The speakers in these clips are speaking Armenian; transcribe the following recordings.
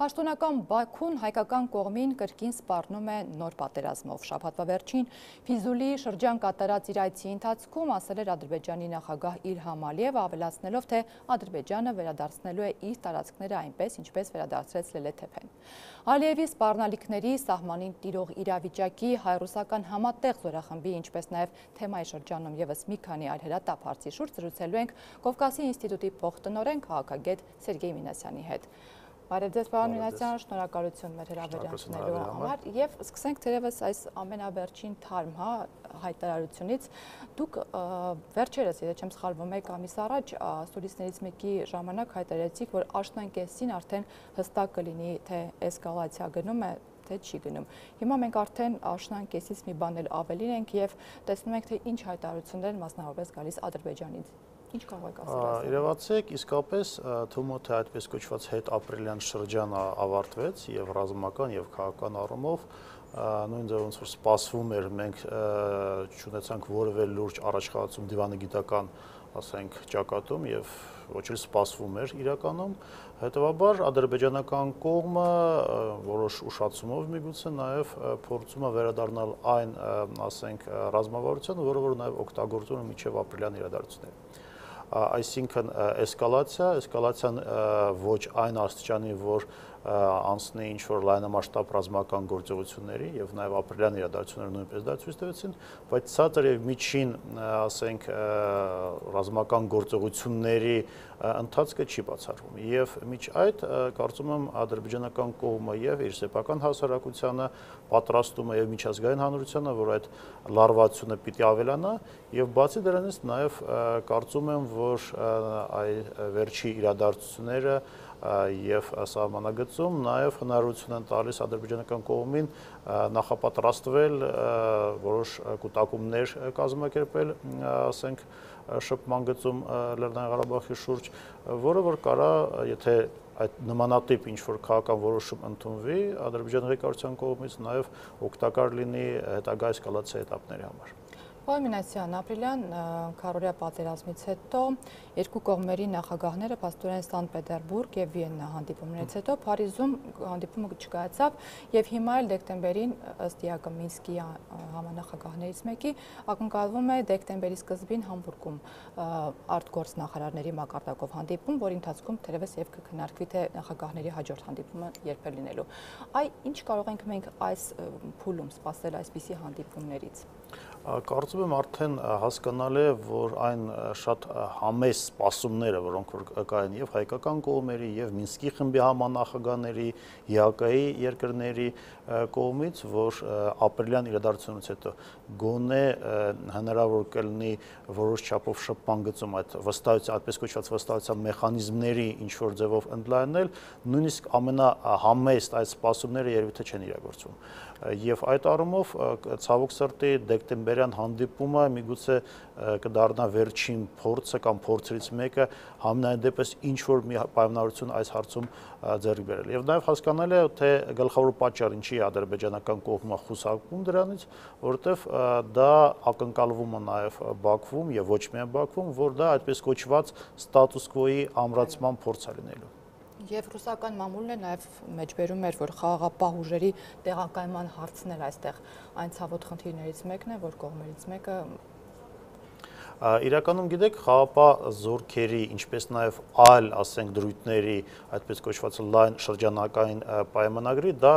Պաշտոնական Բաքուն հայկական կողմին կրկին սպառնում է նոր պատերազմով։ Շաբաթվա վերջին Ֆիզուլի շրջան կատարած իր այցի ընթացքում ասել էր Ադրբեջանի նախագահ Իլհամ Ալիևը, ավելացնելով, թե Ադրբեջանը վերադարձնելու է իր տարածքները այնպես, ինչպես վերադարձրեց Լելեթեփեն։ Ալիևի սպառնալիքների, սահմանին տիրող իրավիճակի, հայ-ռուսական համատեղ զորախմբի, ինչպես նաև թեմայի շրջանում ևս մի քանի այլ հրատապ հարցի շուրջ զրուցելու ենք Կովկասի ինստիտուտի փոխտնօրեն քաղաքագետ Սերգեյ Մինասյանի հետ։ Բարև ձեզ, պարոն Մինասյան, շնորհակալություն մեր հրավերանքնելու համար եւ սկսենք թերևս այս ամենավերջին թարմ հայտարարությունից։ Դուք վերջերս, եթե չեմ սխալվում, մեկ ամիս առաջ ստուդիաներից մեկի ժամանակ հայտարարեցիք, որ աշնան-կեսին արդեն հստակ կլինի, թե էսկալացիա գնում է, թե չի գնում։ Հիմա մենք արդեն աշնան-կեսից մի բան էլ ավելին ենք եւ տեսնում ենք, թե ինչ հայտարարություններ են մասնավորապես գալիս Ադրբեջանից։ Ինչ կարող եք ասել։ Իրավացեք, իսկապես թվում է, թե այդպես կոչված հետապրիլյան շրջանը ավարտվեց եւ ռազմական եւ քաղաքական առումով նույն ձև ոնց որ սպասվում էր, մենք չունեցանք որևէ լուրջ առաջխաղացում դիվանագիտական, ասենք, ճակատում եւ ոչ էլ սպասվում էր իրականում։ Հետևաբար ադրբեջանական կողմը որոշ ուշացումով միգուցե նաեւ փորձում է վերադառնալ այն, ասենք, ռազմավարությանը, որը որ նաեւ օգտագործում է մինչեւ ապրիլյան իրադարձությունները։ Այսինքն էսկալացիան ոչ այն աստիճանի, որ անցնի ինչ-որ լայնամասշտաբ ռազմական գործողությունների եւ նաեւ ապրիլյան իրադարձությունները նույնպես դա ցույց տվեցին, բայց ցածր եւ միջին, ասենք, ռազմական գործողությունների ընթացքը չի բացառվում եւ միջ այդ կարծում եմ ադրբեջանական կողմը եւ իր սեփական հասարակությանը պատրաստում է եւ միջազգային հանրությանը, որ այդ լարվածությունը պիտի ավելանա եւ բացի դրանից նաեւ կարծում եմ, որ վերջի իրադարձությունները եւ սահմանագծում նաեւ հնարավորություն են տալիս ադրբեջանական կողմին նախապատրաստվել որոշ կուտակումներ կազմակերպել, ասենք, շփման գծում Լեռնային Ղարաբաղի շուրջ, որը որ կարա, եթե այդ նմանատիպ ինչ-որ քաղաքական որոշում ընդունվի Ադրբեջանի ղեկավարության կողմից, նաեւ օգտակար լինի հետագա էսկալացիա этаպների համար։ Պարոն Մինասյան, ապրիլյան քառօրյա պատերազմից հետո երկու կողմերի նախագահները փաստորեն Սանտ-Պետերբուրգ եւ Վիեննա հանդիպումներից հետո Փարիզում հանդիպումը չկայացավ եւ հիմա էլ դեկտեմբերին ըստ ԵԱԿ Մինսկի համանախագահներից մեկի ակնկալվում է դեկտեմբերի սկզբին Համբուրգում արտգործնախարարների մակարդակով հանդիպում, որի ընթացքում թերևս եւ կքննարկվի թե նախագահների հաջորդ հանդիպումը երբ է լինելու։ Ինչ կարող ենք մենք այս փուլում սպասել այսպիսի հանդիպումներից։ Կարծում եմ արդեն հասկանալ է, որ այն շատ համեստ սպասումները, որոնք որ կային եւ հայկական կողմերի եւ Մինսկի խմբի համանախագահների, ԵԱԿ-ի երկրների կողմից, որ ապրիլյան իրադարձությունից հետո գոնե հնարավոր կլինի որոշ չափով շփման գծում այդ վստահության, այդպես կոչված վստահության մեխանիզմների ինչ որ ձևով ընդլայնել, նույնիսկ ամենահամեստ այդ սպասումները երևի թե չեն իրագործվում։ Եվ այդ առումով ցավոք սրտի դեկտեմբերյան հանդիպումը միգուցե կդառնա վերջին փորձը կամ փորձերից մեկը համենայն դեպս ինչ որ մի պայմանավորություն այս հարցում ձեռք բերել։ Եվ նաև հասկանալ է, թե գլխավոր պատճառը ինչի է ադրբեջանական կողմը խուսափում դրանից, որովհետև դա ակնկալվում է նաև Բաքվում եւ ոչ միայն Բաքվում, որ դա այդպես կոչված ստատուս քվոյի ամրացման փորձ է լինելու։ Եվ ռուսական մամուլն է նաև մեջբերում էր, որ խաղաղապահ ուժերի տեղակայման հարցն էլ այստեղ այն ցավոտ խնդիրներից մեկն է, որ կողմերից մեկը Իրականում գիտեք, խաղաղապահ զորքերի, ինչպես նաև այլ, ասենք, դրույթների, այդպես կոչված լայն շրջանակային պայմանագրի, դա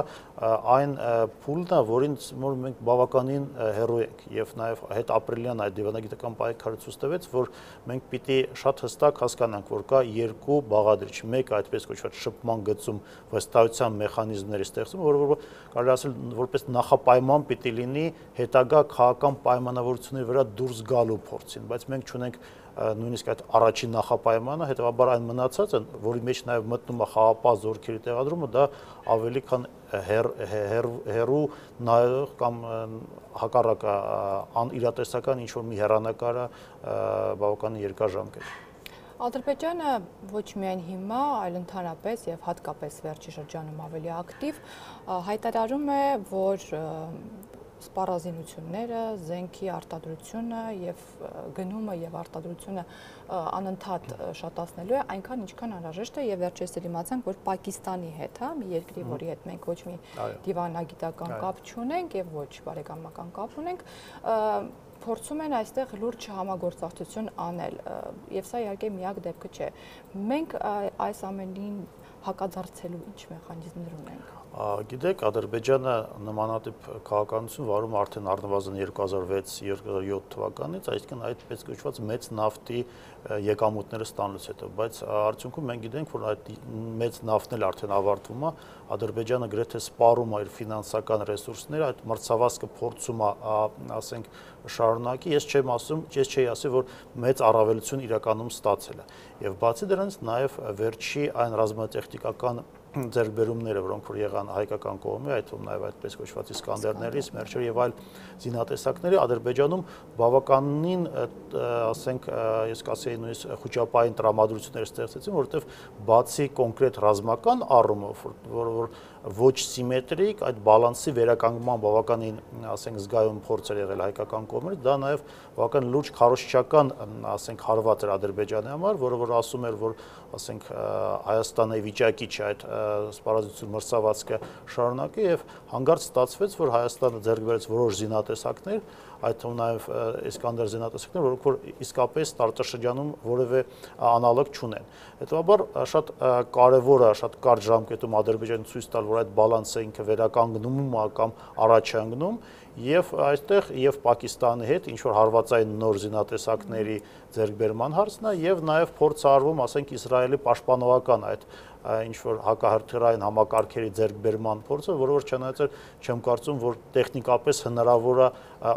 այն փուլն է, որին մենք բավականին հեռու ենք եւ նաև հետապրիլյան այդ դիվանագիտական պայքարը ցույց տվեց, որ մենք պիտի շատ հստակ հասկանանք, որ կա երկու բաղադրիչ, մեկը այդպես կոչված շփման գծում վստահության մեխանիզմների ստեղծումը, որը կարելի ասել որպես նախապայման պիտի լինի հետագա քաղաքական պայմանավորությունների վրա դուրս գալու փորձին, բայց մենք չունենք նույնիսկ այդ առաջին նախապայմանը, հետևաբար այն մնացածը, որի մեջ նաև մտնում է խաղաղապահ զորքերի տեղադրումը, դա ավելի քան հեռու նայող կամ հակառակը անիրատեսական ինչ-որ մի հեռանկարը բավականին երկարաժամկետ։ Ադրբեջանը ոչ միայն հիմա, այլ ընդհանրապես եւ հատկապես վերջի շրջանում ավելի ակտիվ հայտարարում է, որ սպառազինությունները, զենքի արտադրությունը եւ գնումը եւ արտադրությունը անընդհատ շատացնելու է, այնքան ինչքան անհրաժեշտ է, եւ վերջերս դիմացանք, որ Պակիստանի հետ, հա, մի երկրի, որի հետ մենք ոչ մի դիվանագիտական կապ չունենք եւ ոչ բարեկամական կապ ունենք, փորձում են այստեղ լուրջ համագործակցություն անել, եւ սա իհարկե միակ դեպքը չէ։ Մենք այս ամենին հակադարձելու ինչ մեխանիզմներ ունենք։ Գիտեք, Ադրբեջանը նմանատիպ քաղաքականություն վարում արդեն առնվազն 2006-2007 թվականից, այսինքն այդպես կոչված մեծ նավթի եկամուտները ստանալուց հետո, բայց արդյունքում մենք գիտենք, որ այդ մեծ նավթն էլ արդեն ավարտվում է, Ադրբեջանը գրեթե սպառում է իր ֆինանսական ռեսուրսները, այդ մրցավազքը փորձում է, ասենք, շարունակի, ես չէի ասի, որ մեծ առավելություն իրականում ստացել է։ Եվ բացի դրանից նաև վերջի այն ռազմատեխնիկական ձեռքբերումները, որոնք որ եղան հայկական կողմի, այդ թվում նաև այդպես կոչված Իսկանդերների, Սմերչերի եւ այլ զինատեսակների, Ադրբեջանում բավականին, ասենք, ես կասեի նույնիսկ խոճապային տրամադրություններ ստեղծեցին, որովհետեւ բացի կոնկրետ ռազմական առումով, որ ոչ սիմետրիկ, այդ բալանսի վերականգնման բավականին, ասենք, զգայուն փորձ էր եղել հայկական կողմից, դա նաև բավական լուրջ քարոզչական, ասենք, հարված էր Ադրբեջանի համար, որը որ ասում էր, որ, ասենք, Հայաստանը վիճակի չէ այդ սպառազինություն մրցավազքը շարունակի եւ հանգարց ստացվեց, որ Հայաստանը ձեռք բերեց որոշ զինատեսակներ, այդ թվում նաև Իսկանդեր զինատեսակներ, որոնք որ իսկապես տարածաշրջանում որևէ անալոգ չունեն։ Հետևաբար շատ կարևոր է, շատ կարճ ժամկետում Ադրբեջանը ցույց տալ, որ այդ բալանսը ինքը վերականգնում է կամ առաջ է ընկնում, եւ այստեղ եւ Պակիստանի հետ ինչ որ հարվածային նոր զինատեսակների ձեռքբերման հարցն է եւ նաեւ փորձ արվում, ասենք, Իսրայելի պաշտպանողական այդ ինչ որ հակահրթիռային համակարգերի ձեռքբերման փորձը, որը որ չնայած չեմ կարծում, որ տեխնիկապես հնարավոր է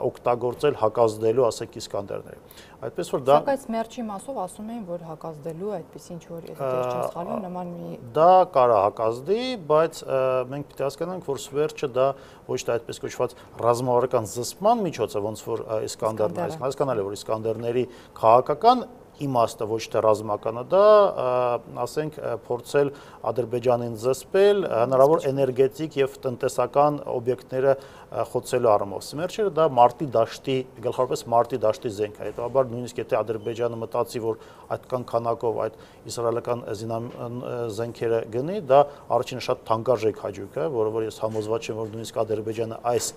օգտագործել հակազդելու, ասենք, Իսկանդերների։ Այդպես որ դա Սակայն Սմերչի մասով ասում էին, որ հակազդելու այդպես ինչ որ եթե չեմ սխալվում, նման մի դա կարա հակազդի, բայց մենք պետք է հասկանանք, որ Սմերչը դա ոչ թե այդպես կոչված ռազմավարական զսպման միջոց է, ոնց որ Իսկանդերն է, հասկանալի է, որ Իսկանդերների քաղաքական իմաստը ոչ թե ռազմականը, դա, ասենք, փորձել Ադրբեջանին զսպել, հնարավոր էներգետիկ եւ տնտեսական օբյեկտները խոցելու առումով։ Սմերչերը դա մարտի դաշտի, գլխավորապես մարտի դաշտի զենք է։ Հետաբար նույնիսկ եթե Ադրբեջանը մտածի, որ այդքան քանակով այդ իսրայելական զենքերը գնի, դա առաջինը շատ թանկարժեք հաճույք է, որը որ ես համոզված եմ, որ նույնիսկ Ադրբեջանը այս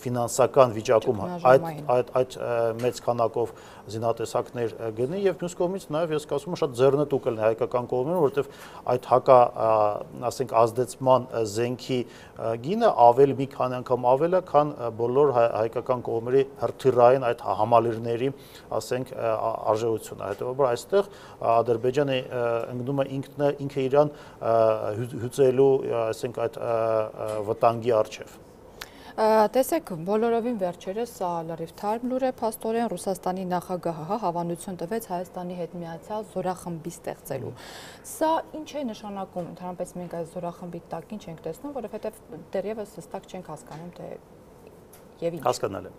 ֆինանսական վիճակում այդ մեծ քանակով զինատեսակներ գնի եւ մյուս կողմից նաեւ ես կասում եմ շատ ձեռնտու կլինի հայկական կողմին, որովհետեւ այդ հակա, ասենք, ազդեցման զենքի գինը ավելի մի քանի անգամ ավել է, քան բոլոր հայկական կողմերի հրթիռային այդ համալիրների, ասենք, արժեությունը։ Հետևաբար այստեղ Ադրբեջանը ընկնում է ինքը իրան հյուծելու, ասենք, այդ վտանգի առջև։ Տեսեք, բոլորովին վերջերս սա լրիվ թարմ լուր է, փաստորեն Ռուսաստանի նախագահը հավանություն տվեց Հայաստանի հետ միացյալ զորախմբի ստեղծելու։ Սա ինչ է նշանակում, ընդհանրապես մենք այս զորախմբի տակ ինչ ենք տեսնում, որովհետև դեռևս հստակ չենք հասկանում, թե եւ ինչ։ Հասկանալի։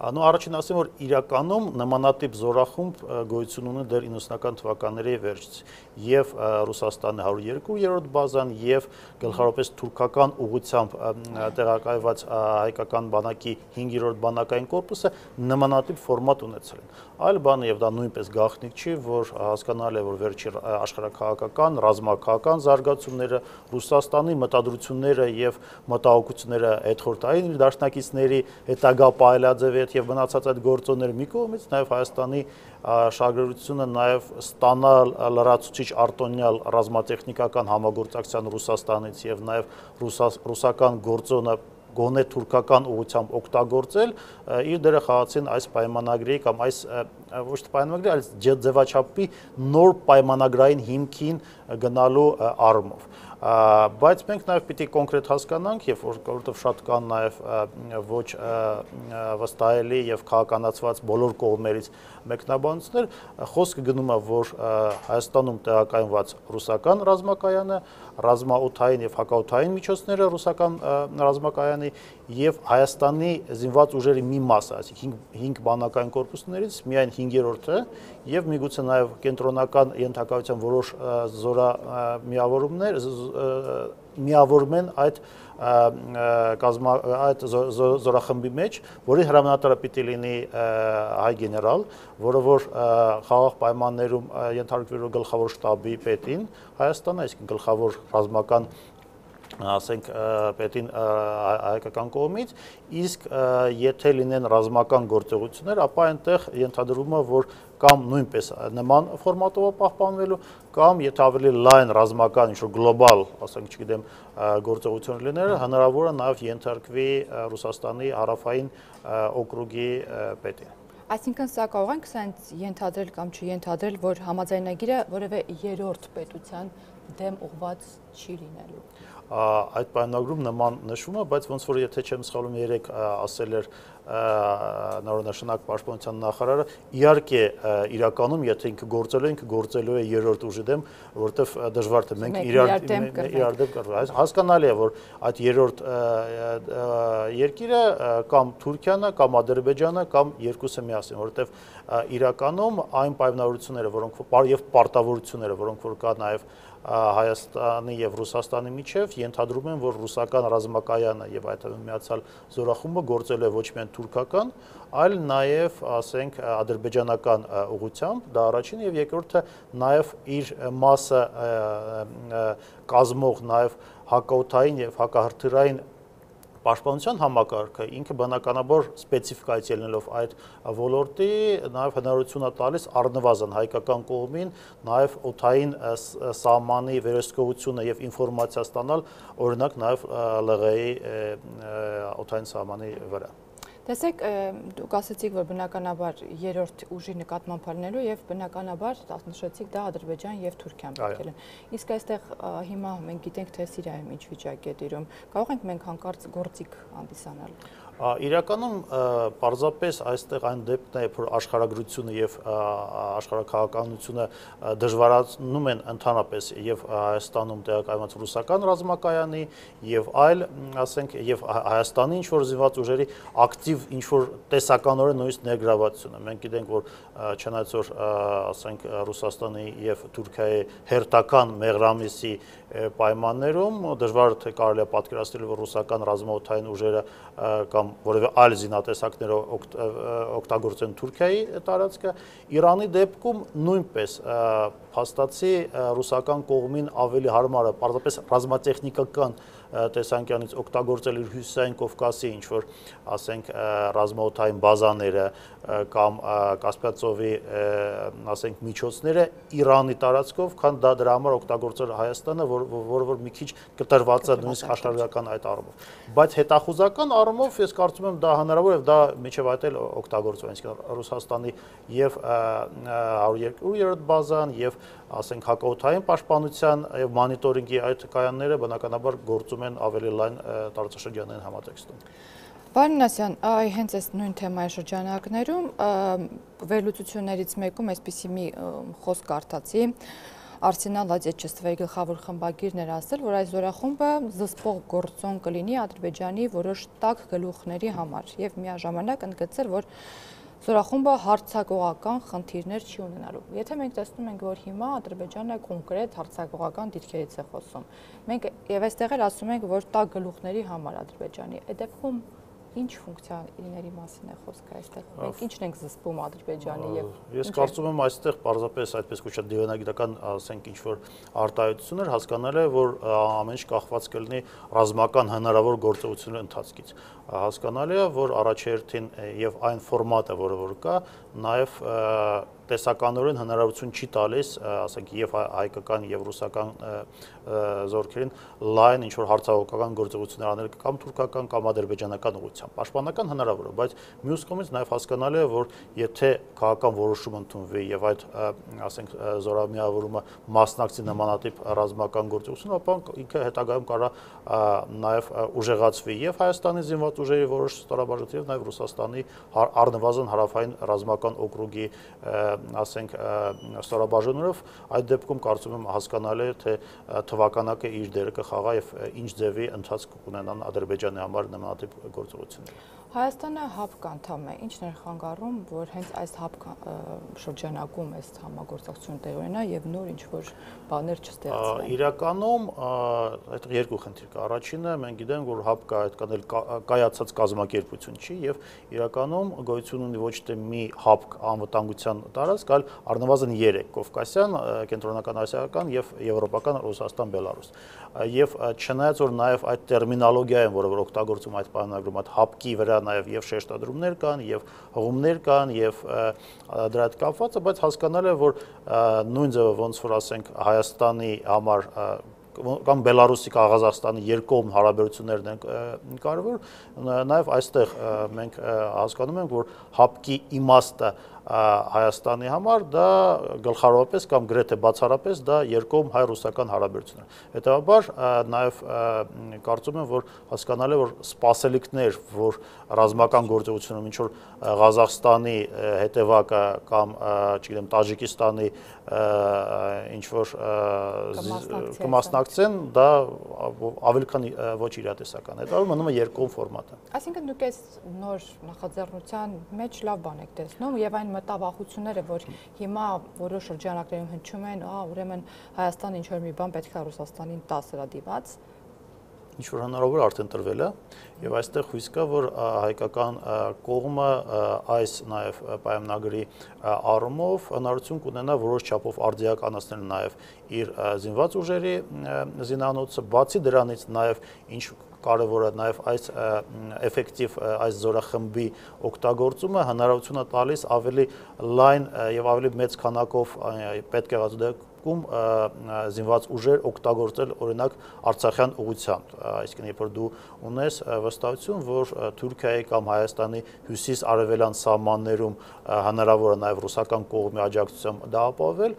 Նո, առաջին ասեմ, որ իրականում նմանատիպ զորախումբ գոյություն ունի դեռ 90-ական թվականների վերջից եւ Ռուսաստանի 102-րդ բազան եւ գլխավորապես թուրքական ուղղությամբ տեղակայված հայկական բանակի 5-րդ բանակային կորպուսը նմանատիպ ֆորմատ ունեցել են։ Այլ բան եւ դա նույնպես գաղտնիք չի, որ հասկանալի է, որ վերջի աշխարհակաղակական, ռազմաքաղաքական զարգացումները Ռուսաստանի մտադրությունները եւ մտահոգությունները հետխորտային դաշնակիցների հետագա պայելաձև եւ մնացած այդ գործոնները մի կողմից, նաեւ Հայաստանի շահագրգռությունը նաեւ ստանալ լրացուցիչ արտոնյալ ռազմատեխնիկական համագործակցության Ռուսաստանից եւ նաեւ ռուսական գործոնը գոնե թուրքական ուղղությամբ օգտագործել, իր դերը խաղացին այս պայմանագրի կամ այս ոչ թե պայմանագրի, այլ ձևաչափի նոր պայմանագրային հիմքին գնալու առումով։ Բայց մենք նաև պիտի կոնկրետ հասկանանք, եւ որովհետեւ շատ կան նաև ոչ վստահելի եւ քաղաքականացված բոլոր կողմերից մեկնաբանություններ, խոսքը գնում է, որ Հայաստանում տեղակայված ռուսական ռազմակայանը, ռազմաօդային եւ հակաօդային միջոցները ռուսական ռազմակայանի եւ Հայաստանի զինված ուժերի մի մասը, այսինքն 5 բանակային կորպուսներից միայն 5-րդը եւ միգուցե նաեւ կենտրոնական ենթակայության որոշ միավորում են այդ զորախմբի մեջ, որի հրամանատարը պիտի լինի հայ գեներալ, որը որ խաղաղ պայմաններում ենթարկվելու գլխավոր շտաբի պետին Հայաստանը, այսինքն գլխավոր ռազմական ասենք պետին հայկական կողմից, իսկ եթե լինեն ռազմական գործողություններ, ապա այնտեղ ենթադրվում է, որ կամ նույնպես նման ֆորմատով պահպանվելու, կամ եթե ավելի լայն ռազմական ինչ-որ գլոբալ, ասենք, չգիտեմ, գործողություններ լինել, հնարավոր է նաև ենթարկվի Ռուսաստանի հարավային օկրուգի պետին։ Այսինքն սա կարող ենք սենց ենթադրել կամ չենթադրել, որ համաձայնագիրը որևէ երրորդ պետության դեմ ուղղված չի լինելու։ Այդ պայմանագրում նման նշվում է, բայց ոնց որ եթե չեմ սխալվում երեք ասել էր նորոնաշնակ պաշտպանության նախարարը, իհարկե իրականում եթե ինքը գործելու է երրորդ ուժի դեմ, որովհետև դժվար թե մենք իրար դեմ կռվենք։ Հասկանալի է, որ այդ երրորդ երկիրը կամ Թուրքիան է, կամ Ադրբեջանը, կամ երկուսը միասին, որովհետև իրականում այն պայմանավորությունները, որոնք եւ պարտավորությունները, որոնք որ կա նաեւ Հայաստանի եւ Ռուսաստանի միջև ենթադրում են, որ ռուսական ռազմակայանը եւ այդ միացյալ զորախումբը գործելու է ոչ միայն թուրքական, այլ նաեւ, ասենք, ադրբեջանական ուղղությամբ, դա առաջին եւ երկրորդը նաեւ իր մասը կազմող նաեւ հակաօդային եւ հակահրթիռային պաշտպանության համակարգը ինքը բնականաբար սպეციფიკայից ելնելով այդ ոլորտի նաև հնարավորություն է տալիս առնվազն հայկական կողմին նաև օդային սահմանի վերահսկողությունը եւ ինֆորմացիա ստանալ օրինակ նաև ԼՂ-ի օդային սահմանի վրա։ Տեսեք, դուք ասացիք, որ բնականաբար երրորդ ուժի նկատմամբ լինելու եւ բնականաբար նշեցիք դա Ադրբեջան եւ Թուրքիան պետք է լինեն։ Իսկ այստեղ հիմա մենք գիտենք, թե Սիրիայում ինչ վիճակ է տիրում։ Կարող ենք մենք հանկարծ գործիք հանդիսանալ։ Իրականում պարզապես այստեղ այն դեպքն է, որ աշխարհագրությունը եւ աշխարհաքաղաքականությունը դժվարացնում են ընդհանրապես եւ Հայաստանում տեղակայված ռուսական ռազմակայանի եւ այլ, ասենք, եւ Հայաստանի ինչ որ զինված ուժերի ակտիվ ինչ որ տեսականորեն նույնիսկ ներգրավվածությունը։ Մենք գիտենք, որ չնայած որ ասենք Ռուսաստանի եւ Թուրքիայի հերթական մեղրամիսի պայմաններում դժվար թե կարելի է պատկերացնել, որ ռուսական ռազմաօդային ուժերը կամ որևէ այլ զինատեսակներ օգտագործեն Թուրքիայի տարածքը, Իրանի դեպքում նույնպես փաստացի ռուսական կողմին ավելի հարմար է պարզապես ռազմատեխնիկական տեսանկյունից օգտագործել իր հյուսիսային Կովկասի ինչ որ ասենք ռազմաօդային բազաները կամ Կասպիան ծովի ասենք միջոցները Իրանի տարածքով, քան դա դրա համար օգտագործել Հայաստանը, որը մի քիչ կտրված է նույնիսկ աշխարհական այդ առումով։ Բայց հետախուզական առումով ես կարծում եմ դա հնարավոր է եւ դա միջև այդ էլ օգտագործվում է, այսինքն Ռուսաստանի եւ 102-րդ բազան եւ ասենք հակաօդային պաշտպանության եւ մոնիտորինգի այդ կայանները բնականաբար գործում են ավելի լայն տարածաշրջանային համատեքստում։ Պարոն Նասյան, հենց այս նույն թեմայի շրջանակներում վերլուծություններից մեկում այսպիսի մի խոսք կարդացի, Արսենալ Ադեչեստվայի գլխավոր խմբագիրն էր ասել, որ այս զորախումբը զսպող գործոն կլինի Ադրբեջանի որոշ տաք գլուխների համար եւ միաժամանակ ընդգծել, որ զորախումբը հարցակողական խնդիրներ չի ունենալու։ Եթե մենք տեսնում ենք, որ հիմա Ադրբեջանը կոնկրետ հարցակողական դիրքերից է խոսում, մենք եւ այստեղ էլ ասում ենք, որ տաք գլուխների համար Ադրբեջանի, այդ դեպքում ինչ ֆունկցիաների մասին է խոսքը այստեղ։ Մենք ինչն ենք զսպում Ադրբեջանի եւ Ես կարծում եմ այստեղ պարզապես այդպես կոչված դիվանագիտական, ասենք, ինչ որ արտահայտություններ հասկանալ է, որ ամեն ինչ կախված կլինի ռազմական հնարավոր գործողությունների ընթացքից։ Հասկանալի է, որ առաջերտին եւ այն ֆորմատը, որը որ կա, նաեւ տեսականորեն հնարավորություն չի տալիս, ասենք, եւ հայկական եւ ռուսական զորքերին լայն ինչ որ հարցահողական գործողություններ անել կամ թուրքական կամ ադրբեջանական ուղղությամբ։ ուղղությամբ։ Պաշտպանական հնարավոր է, բայց մյուս կողմից նաև հասկանալի է, որ եթե քաղաքական որոշում ընդունվի եւ այդ, ասենք, զորամիավորումը մասնակցի նմանատիպ ռազմական գործողություն, ապա ինքը հետագայում կարա նաև ուժեղացվի եւ Հայաստանի զինված ուժերի որոշ ստորաբաժանումներ եւ նաև Ռուսաստանի առնվազն հարավային ռազմական օկրուգի, ասենք, ստորաբաժանումներով, այդ դեպքում կարծում եմ հասկանալի է, թե թվականակը իր դերը կխաղա եւ ինչ ձևի ընթացք կունենան Ադրբեջանի համար նմանատիպ գործողությունները։ Հայաստանը ՀԱՊԿ անդամ է, ինչն էր խանգարում, որ հենց այս ՀԱՊԿ շրջանակում այս համագործակցությունը տեղի ունենա եւ նոր ինչ-որ բաներ չստեղծվեն։ Իրականում այդ երկու խնդիր կա։ Առաջինը մենք գիտենք, որ ՀԱՊԿ-ը այդքան էլ կայացած կազմակերպություն չի եւ իրականում գոյություն ունի ոչ թե մի ՀԱՊԿ անվտանգության տարածք, այլ առնվազն 3՝ Կովկասյան, Կենտրոնական ասիական եւ Եվրոպական Ռուսաստան, Բելարուս։ Եվ չնայած որ նաև այդ տերմինոլոգիա են, որը որ օգտագործում այդ պայմանագրում, այդ ՀԱՊԿ-ի վրա նաև շեշտադրումներ կան, եւ հղումներ կան, եւ դրա հետ կապված է, բայց հասկանալի է, որ նույն ձևը ոնց որ ասենք Հայաստանի համար կամ Բելարուսի, Ղազախստանի երկկողմ հարաբերություններն են կարևոր, նաև այստեղ մենք հասկանում ենք, որ ՀԱՊԿ-ի իմաստը Հայաստանի համար դա գլխավորապես կամ գրեթե բացառապես դա երկկողմ հայ-ռուսական հարաբերություններ։ Հետևաբար նաև կարծում եմ, որ հասկանալի է, որ սպասելիքներ, որ ռազմական գործողությունում ինչ որ Ղազախստանի հետևակը կամ, չգիտեմ, Տաջիկստանի ինչ որ կմասնակցեն, դա ավելի քան ոչ իրատեսական է։ Դա մնում է երկկողմ ֆորմատը։ Այսինքն դուք այս նոր նախաձեռնության մեջ լավ բան եք տեսնում եւ այն մտավախությունները, որ հիմա որոշ շրջանակներում հնչում են, ուրեմն Հայաստանը ինչ որ մի բան պետք է Ռուսաստանին տա սրադիված, ինչ որ հնարավոր արդեն տրվել է եւ այստեղ հույս կա, որ հայկական կողմը այս նաեւ պայմանագրի առումով հնարավորություն կունենա որոշ չափով արդիականացնել նաեւ իր զինված ուժերի զինանոցը, բացի դրանից նաեւ ինչ կարևոր է նաև այս էֆեկտիվ այս զորախմբի օգտագործումը հնարավորություն է տալիս ավելի լայն եւ ավելի մեծ քանակով պետք է դեպքում զինված ուժեր օգտագործել օրինակ Արցախյան ուղղությամբ, այսինքն երբ որ դու ունես վստահություն, որ Թուրքիայի կամ Հայաստանի հյուսիս-արևելյան սահմաններում հնարավոր է նաև ռուսական կողմի աջակցությամբ դա ապահովել,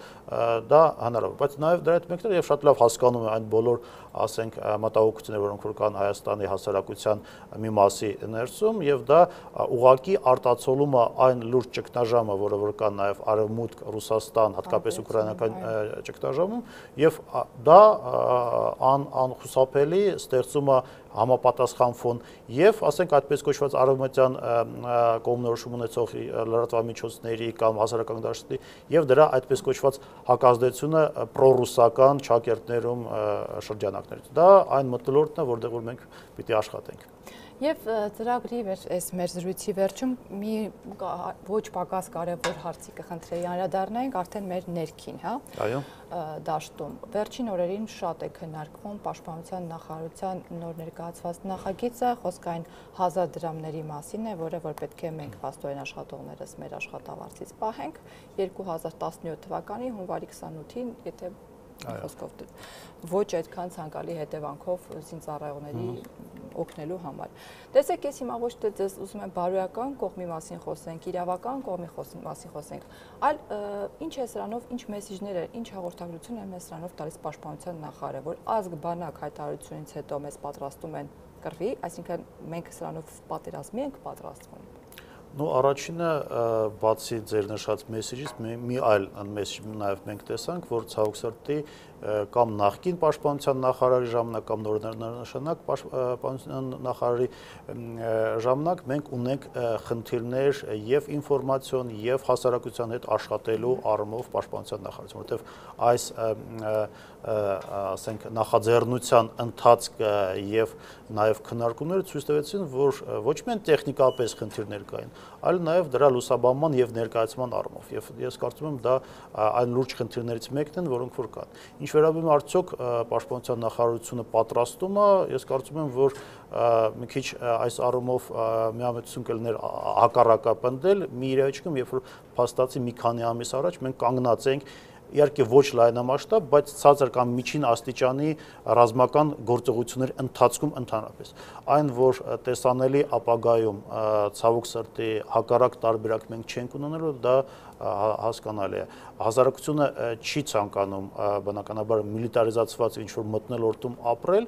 դա հնարավոր, բայց նաև դրա հետ մեկտեղ եւ շատ լավ հասկանում եմ այն բոլոր, ասենք, մտահոգությունները, որոնք որ կան Հայաստանի հասարակության մի մասի ներսում եւ դա ուղղակի արտացոլումը այն լուրջ ճգնաժամը, որը որ կա նաև Արևմուտք, Ռուսաստան, հատկապես ուկրաինական ճգնաժամում եւ դա անխուսափելի ստեղծում է համապատասխան ֆոն եւ ասենք այդպես կոչված արևմտյան կողմնորոշում ունեցող լրատվամիջոցների կամ հասարակական դաշտի եւ դրա այդպես կոչված հակազդեցությունը պրոռուսական ճակերտներում շրջանակներից։ Դա այն մթնոլորտն է, որտեղ որ մենք պիտի աշխատենք։ Եվ ծրագրի այս մեր զրույցի վերջում մի ոչ պակաս կարևոր հարցի կխնդրեի անդրադառնանք արդեն մեր ներքին, հա։ Այո։ Դաշտում։ Վերջին օրերին շատ է քննարկվում Պաշտպանության նախարարության նոր ներկայացված նախագիծը, խոսքը այն 1000 դրամների մասին է, որը որ պետք է մենք փաստորեն աշխատողներս մեր աշխատավարձից պահենք 2017 թվականի հունվարի 28-ին, եթե խոսքով ոչ այդքան ցանկալի հետևանքով զինծառայողների օգնելու համար։ Տեսեք, ես հիմա ոչ թե ձեզ ուզում եմ բարոյական կողմի մասին խոսենք, իրավական կողմի մասին խոսենք, այլ ինչ է սրանով, ինչ մեսիջներ է, ինչ հաղորդագրություն է մեզ սրանով տալիս Պաշտպանության նախարարը, որ ազգ բանակ հայտարարությունից հետո մեզ պատրաստում են կռվի, այսինքն մենք սրանով պատերազմի ենք պատրաստվում։ Ну, առաջինը բացի ձեր նշած մեսեջից մի այլ մեսեջ նաև մենք տեսանք, որ ցավոք սրտի կամ նախկին պաշտպանության նախարարի ժամանակ կամ նորանշանակ պաշտպանության նախարարի ժամանակ մենք ունենք խնդիրներ եւ ինֆորմացիոն եւ հասարակության հետ աշխատելու առումով պաշտպանության նախարարություն, որտեղ այս ասենք նախաձեռնության ընթացքը եւ նաեւ քննարկումները ցույց տվեցին, որ ոչ միայն տեխնիկապես խնդիրներ կային, այլ նաեւ դրա լուսաբանման եւ ներկայացման առումով եւ ես կարծում եմ դա այն լուրջ խնդիրներից մեկն են, որոնք որ կան։ Ինչ վերաբերում է արդյոք պաշտպանության նախարարությունը պատրաստում է, ես կարծում եմ, որ մի քիչ այս առումով միամտություն կլիներ հակառակապնդել մի իրավիճակում, երբ որ փաստացի մի քանի ամիս առաջ մենք կանգնած ենք իհարկե ոչ լայնամասշտաբ, բայց ցածր կամ միջին աստիճանի ռազմական գործողությունների ընթացքում ընդհանրապես։ Այն, որ տեսանելի ապագայում ցավոք սրտի հակառակ տարբերակ մենք չենք ունենալու, դա հասկանալի է։ Հասարակությունը չի ցանկանում բնականաբար միլիտարիզացված ինչ-որ մթնոլորտում ապրել,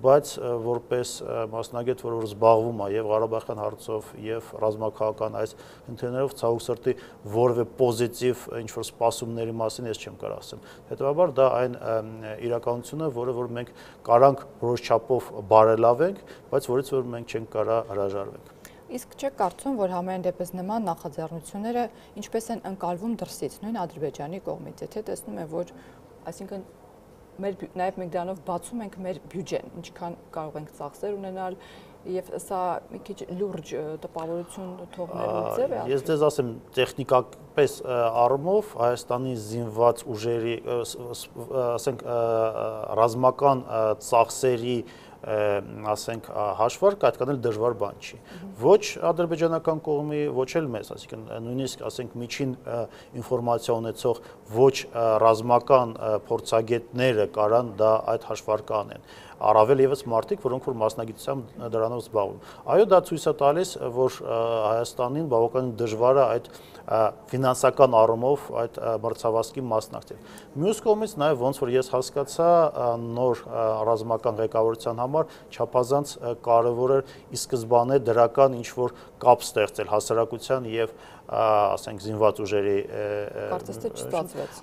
բայց որպես մասնագետ, որ զբաղվում է եւ Ղարաբաղյան հարցով եւ ռազմաքաղաքական այս խնդիրներով, ցավոք սրտի որևէ պոզիտիվ ինչ-որ սպասումների մասին ես չեմ կարող ասեմ։ Հետևաբար դա այն իրականությունն է, որը որ մենք կարանք որոշ չափով բարելավենք, բայց որից որ մենք չենք կարող հրաժարվենք։ Իսկ չեք կարծում, որ համենայն դեպս նման նախաձեռնությունները ինչպես են ընկալվում դրսից, նույն Ադրբեջանի կողմից, եթե տեսնում են, որ այսինքն նաև մենք դրանով բացում ենք մեր բյուջեն, ինչքան կարող ենք ծախսեր ունենալ, եւ սա մի քիչ լուրջ տպավորություն թողնելու ձև է։ Ես դες ասեմ, տեխնիկապես առումով Հայաստանի զինված ուժերի, ասենք, ռազմական ծախսերի ասենք հաշվարկը այդքան դժվար բան չի։ Ոչ ադրբեջանական կողմի, ոչ էլ մեզ, այսինքն նույնիսկ ասենք միջին ինֆորմացիա ունեցող ոչ ռազմական փորձագետները կարան դա այդ հաշվարկը անեն։ Առավել եւս մարդիկ, որոնք որ մասնագիտությամբ դրանով զբաղվում։ Այո, դա ցույց է տալիս, որ Հայաստանին բավականին դժվար է այդ ֆինանսական առումով այդ մրցավազքի մասնակցել։ Մյուս կողմից նաև ոնց որ ես հասկացա, նոր ռազմական ղեկավարության համար չափազանց կարևոր է ի սկզբանե դրական ինչ որ կապ ստեղծել հասարակության եւ ասենք զինված ուժերի Կարծես թե չստացվեց։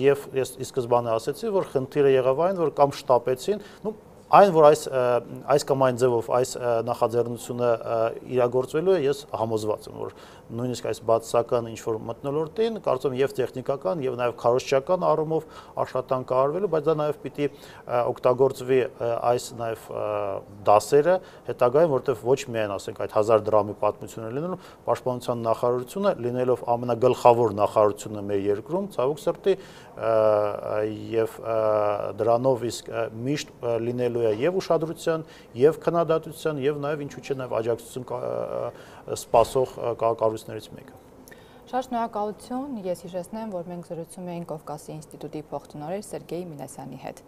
Եվ ես ի սկզբանե ասացի, որ խնդիրը եղավ այն, որ կամ շտապեցին, այն, որ այս կամ այն ձևով այս նախաձեռնությունը իրագործվելու է, ես համոզված եմ, որ նույնիսկ այս բացասական ինչ-որ մթնոլորտին, կարծում եմ, եւ տեխնիկական, եւ նաեւ քարոզչական առումով աշխատանք արվելու, բայց դա նաեւ պիտի օգտագործվի այս նաեւ դասերը հետագայում, որտեղ ոչ միայն, ասենք, այդ 1000 դրամի պատմությունը լինելու, պաշտպանության նախարարությունը լինելով ամենագլխավոր նախարարությունը մեր երկրում, ցավոք սրտի, եւ դրանով իսկ միշտ լինելու է եւ ուշադրության, եւ քննադատության, եւ նաեւ ինչու՞ չէ նաեւ աջակցություն սպասող կառույցներից մեկը։ Շատ շնորհակալություն, ես հիշեցնեմ, որ մենք զրուցում էինք Կովկասի ինստիտուտի փոխտնօրեն Սերգեյ Մինասյանի հետ։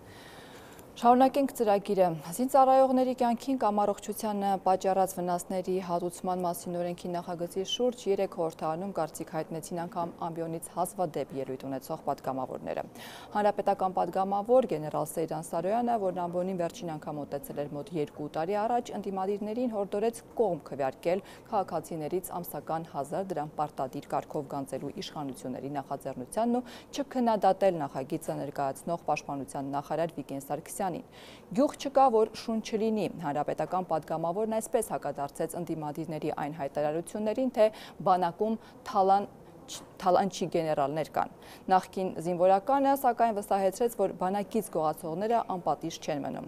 Շարունակենք ծրագիրը։ Զինծառայողների կյանքին կամ առողջությանը պատճառած վնասների հատուցման մասին օրենքի նախագծի շուրջ 3 խորհրդարանում կարծիք հայտնեցին անգամ ամբիոնից հազվադեպ ելույթ ունեցող պատգամավորները։ Հանրապետական պատգամավոր գեներալ Սեյրան Սարոյանը, որն ամբիոնին վերջին անգամ մոտեցել էր մոտ 2 տարի առաջ, ընդդիմադիրներին հորդորեց կողմ քվեարկել քաղաքացիներից ամսական 1000 դրամ պարտադիր կարգով գանձելու իշխանությունների նախաձեռնությանն ու չքննադատել նախագիծը ներկայացնող պաշտպանության նախարար Վիգեն Սարգսյանին։ Գյուղ չկա, որ շուն չլինի։ Հանրապետական պատգամավորն այսպես հակադարձեց ընդդիմադիրների այն հայտարարություններին, թե բանակում թալանչի գեներալներ կան։ Նախկին զինվորականը սակայն վստահեցրեց, որ բանակից գողացողները անպատիժ չեն մնում։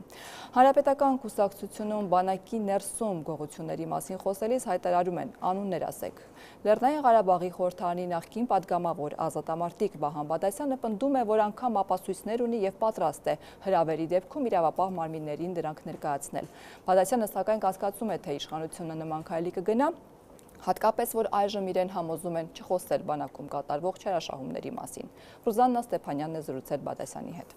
Հանրապետական կուսակցությունում բանակի ներսում գողությունների մասին խոսելիս հայտարարում են անուններ ասեք։ Լեռնային Ղարաբաղի խորհրդարանի նախկին պատգամավոր ազատամարտիկ Վահան Բադասյանը պնդում է, որ անգամ ապացույցներ ունի եւ պատրաստ է հրավերի դեպքում իրավապահ մարմիններին դրանք ներկայացնել։ Բադասյանը սակայն կասկածում է, թե իշխանությունը նման քայլի կգնա, հատկապես, որ այժմ իրեն համոզում են չխոսել բանակում կատարվող չարաշահումների մասին։ Ռուզաննա Ստեփանյանն է զրուցել Բադասյանի հետ։